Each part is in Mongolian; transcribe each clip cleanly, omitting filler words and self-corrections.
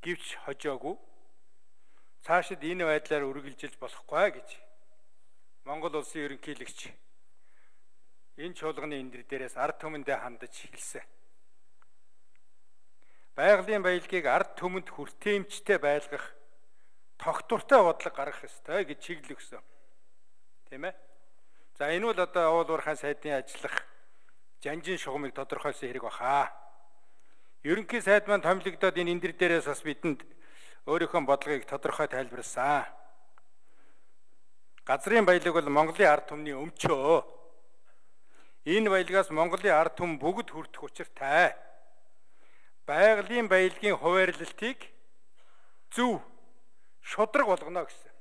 Гэвч хожоогүй. Цаашид энэ байдлаар үргэлжилж болохгүй гэж Монгол улсын ерөнхийлөгч энэ чуулганы эндэр дээрээс ард түмэндээ хандаж хэлсэн. Байгалийн баялагийг ард түмэнд хүртээмжтэй байлгах тогтвортой бодлого гаргах ёстой гэж чиглэл өгсөн. Тийм ээ? За энэ бол одоо уул уурхайн сайдын ажиллах жанжин шугамыг тодорхойлсон хэрэг баха. Ерөнхий сайд маань томилогдоод энэ эндэр дээрээс бас бидэнд өөрийнхөө бодлогыг тодорхой тайлбарласан. Газрын баялаг бол Монголын ард түмний өмчөө. Энэ баялагаас Монголын ард түмэн бүгд хүртэх учиртай. Байгалийн баялагын хуваарлалтыг зөв шудраг болгоно гэсэн.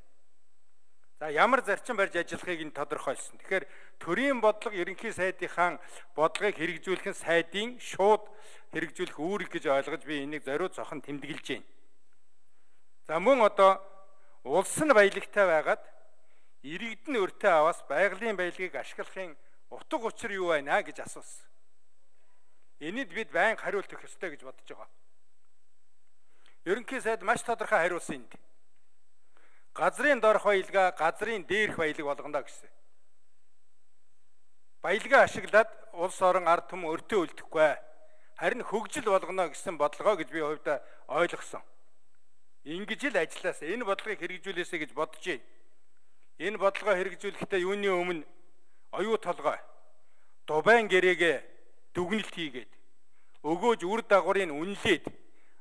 За ямар зарчим барьж ажиллахыг нь тодорхойлсон. Тэгэхээр төрийн бодлого ерөнхий сайдынхаа бодлогыг хэрэгжүүлэх нь сайдын шууд хэрэгжүүлэх үүрэг гэж ойлгож би энийг зориуд зохон тэмдэглэж байна. За мөн одоо улс нь баялагтай байгаад иргэдэн өртөө аваас байгалийн баялагыг ашиглахын утга учир юу байна гэж асуусан. Энэд бид байнга хариулт өгөх ёстой гэж бодож байгаа. Ерөнхий сайд маш тодорхой хариулсан энд. Газрын доорх баялгаа газрын дээрх баялаг болгоно гэсэн. Баялгаа ашиглаад улс орон ард түмэн өртөө үлдэхгүй. Харин хөгжил болгоно гэсэн бодлогоо гэж би хувьдаа ойлгосон. Ингэж л ажилласаа энэ бодлогыг хэрэгжүүлээсэ гэж бодож байна. Энэ бодлогоо хэрэгжүүлэхдээ юуны өмнө оюу толгой дубайн гэрээгээ дүгнэлт хийгээд өгөөж үр дагаврыг үнэлээд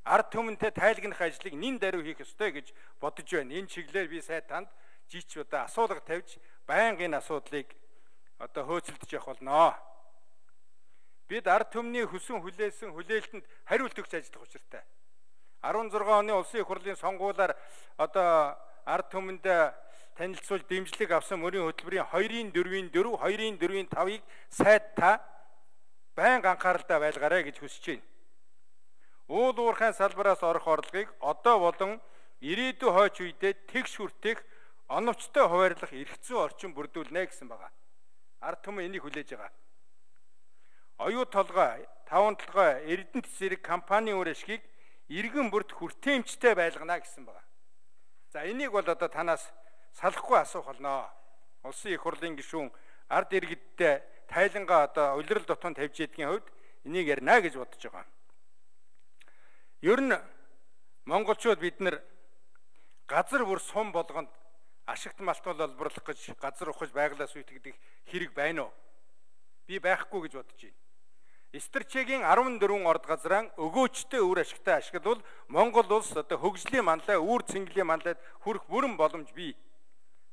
ард түмэнтэй тайлгнах ажлыг нин даруй хийх ёстой гэж бодож байна. Энэ чиглэлээр би сайд танд жийч удаа асуулга тавьж байнга энэ асуудлыг одоо хөөцөлдөж явах болно. Бид ард түмний хүсэн хүлээсэн хүлээлтэнд хариулт өгч ажиллах учиртай. 16 оны улсын их хурлын сонгуулиар одоо ард түмэнд танилцуулж дэмжлэг авсан мөрийн хөтөлбөрийн 2-4-4, 2-4-5-ыг сайд та байнга анхааралтай байлгаарай гэж хүсэж байна. Уул уурхайн салбараас орох орлогыг одоо болон ирээдүйн хойч үедээ тэгш хүртэх оновчтой хуваарлах эрх зүйн орчин бүрдүүлнэ гэсэн байгаа. Ард түмэн энийг хүлээж байгаа. Оюу толгой, таван толгой, Эрдэнэт зэрэг компанийн үр ашгийг иргэн бүрт хүртээмжтэй байлгана гэсэн байгаа. За энийг бол одоо танаас салахгүй асуух болно. Улсын их хурлын гишүүн ард иргэдтэй тайлангаа одоо улирал дотоод тавьж ядгийн хувьд энийг ярина гэж бодож байгаа. Ер нь монголчууд бид нар газар бүр сум болгонд ашигт малтуул олборлох гэж газар ухаж байглаас үйтгдэг хэрэг байна уу? Би байхгүй гэж бодож байна. Стратегийн 14 орд газраа өгөөчтэй үр ашигтай ашиглавал Монгол улс одоо хөгжлийн манлай, үр цэнгэлийн манлайд хүрэх бүрэн боломж бий.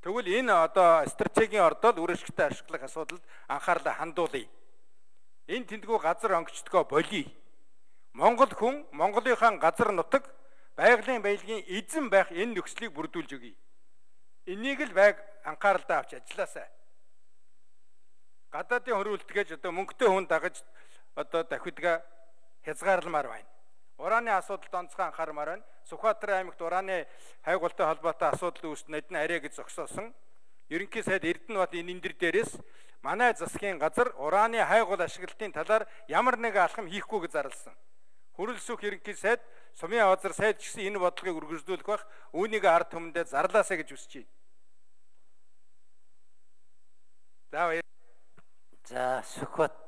Тэгвэл энэ одоо стратегийн ордол үр ашигтай ашиглах асуудалд анхаарлаа хандуулъя. Энэ тэмдгүү газар онгочдгоо болиё. Монгол хүн Монголынхаа газар нутаг байгалийн баялагын эзэн байх энэ нөхцөлийг бүрдүүлж өгье. Энийг л байг анхааралтай авч ажилласаа. Гадаадын хөрвөлтгээж одоо мөнгөтэй хүн дагаж одоо давхидгаа хязгаарламаар байна. Урааны асуудалд онцгой анхаармаар байна. Сүхбаатар аймагт урааны хайгуултай холбоотой асуудал үүссэн эдэн арай гэж зогсоосон. Ерөнхий сайд Эрдэнэбат энэ эндэр дээрээс манай засгийн газар урааны хайгуул ашиглалтын талаар ямар нэгэн алхам хийхгүй гэж зарласан. Хөрөлсөх ерөнхий сайд сумын авазар сайд ч гэсэн энэ бодлогыг үргэлжлүүлэх бах үүнийг ард түмэндээ зарлаасаа гэж хүсэж байна. За Сүхбаатар